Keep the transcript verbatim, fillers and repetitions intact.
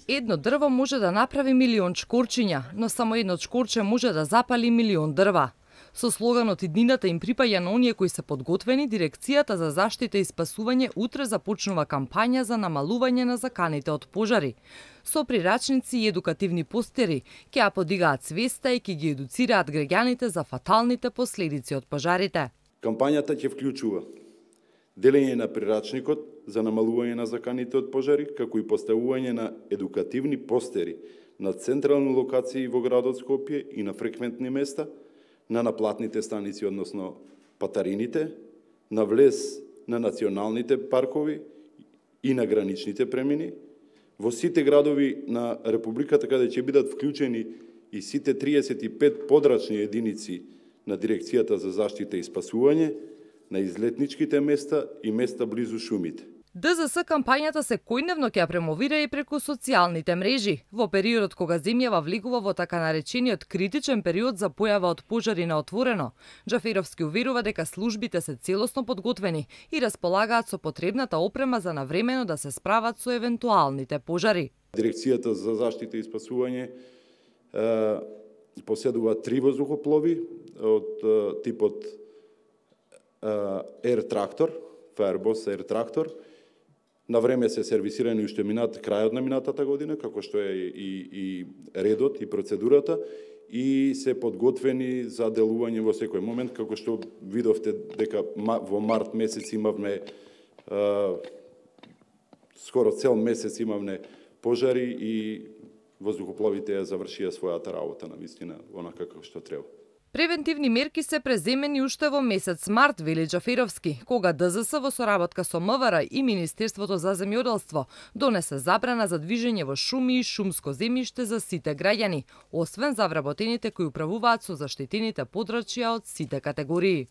Едно дрво може да направи милион чкорчиња, но само едно чкорче може да запали милион дрва. Со слоганот иднината им припаѓа на оние кои се подготвени, Дирекцијата за заштита и спасување утре започнува кампања за намалување на заканите од пожари. Со прирачници и едукативни постери ќе ја подигаат свеста и ќе ги едуцираат граѓаните за фаталните последици од пожарите. Кампањата ќе вклучува делење на прирачникот за намалување на заканите од пожари, како и поставување на едукативни постери на централни локации во градот Скопје и на фреквентни места, на наплатните станици, односно патарините, на влез на националните паркови и на граничните премини, во сите градови на Републиката, каде ќе бидат вклучени и сите триесет и пет подрачни единици на Дирекцијата за заштита и спасување, на излетничките места и места близу шумите. ДЗС кампањата секојдневно ќе ја премовира и преку социјалните мрежи. Во периодот кога земјава влегува во така наречениот критичен период за појава од пожари на отворено, Џаферовски уверува дека службите се целосно подготвени и располагаат со потребната опрема за навремено да се справат со евентуалните пожари. Дирекцијата за заштита и спасување е, поседува три воздухоплови од е, типот Air Tractor, Fireboss Air Tractor. На време се сервисирани уште минат крајот на минатата година, како што е и, и редот и процедурата, и се подготвени за делување во секој момент, како што видовте дека во март месец имавме а, скоро цел месец имавме пожари и воздухопловите ја завршија својата работа на вистина, онака како што треба. Превентивни мерки се преземени уште во месец март, вели Џаферовски, кога ДЗС во соработка со МВР и Министерството за земјоделство донесе забрана за движење во шуми и шумско земјиште за сите граѓани, освен за вработените кои управуваат со заштитените подрачја од сите категории.